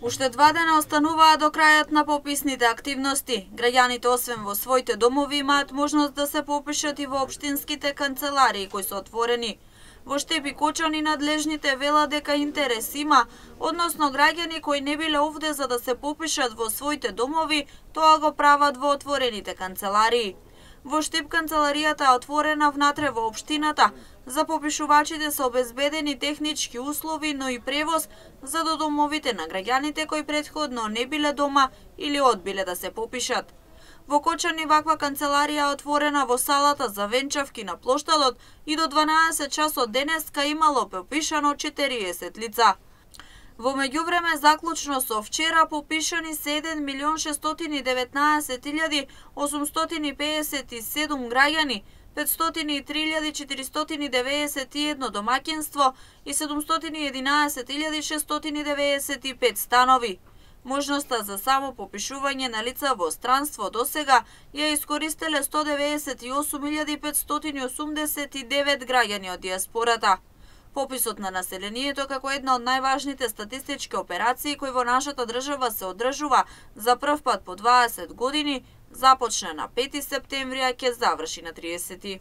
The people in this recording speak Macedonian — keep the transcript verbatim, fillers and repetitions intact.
Уште два дена остануваат до крајот на пописните активности. Граѓаните освен во своите домови имаат можност да се попишат и во општинските канцеларии кои се отворени. Во Штеп и Кочани надлежните велат дека интерес има, односно граѓани кои не биле овде за да се попишат во своите домови, тоа го прават во отворените канцеларии. Во Штеп канцеларијата е отворена внатре во општината. За попишувачите се обезбедени технички услови, но и превоз за до домовите на граѓаните кои претходно не биле дома или одбиле да се попишат. Во Кочани ваква канцеларија е отворена во салата за венчавки на плоштадот и до дванаесет часот денеска имало попишано четириесет лица. Во меѓувреме, заклучно со вчера попишани се еден милион шестстотини и деветнаесет илјади осумстотини пеесет и седум граѓани, петстотини и три илјади четиристотини девеесет и едно домаќинство и седумстотини и единаесет илјади шестстотини девеесет и пет станови. Можноста за само попишување на лица во странство досега ја искористеле сто девеесет и осум илјади петстотини осумдесет и девет граѓани од дијаспората. Пописот на населението како една од најважните статистички операции кои во нашата држава се одржува за прв пат по дваесет години, започна на пети септември, а ќе заврши на триесети.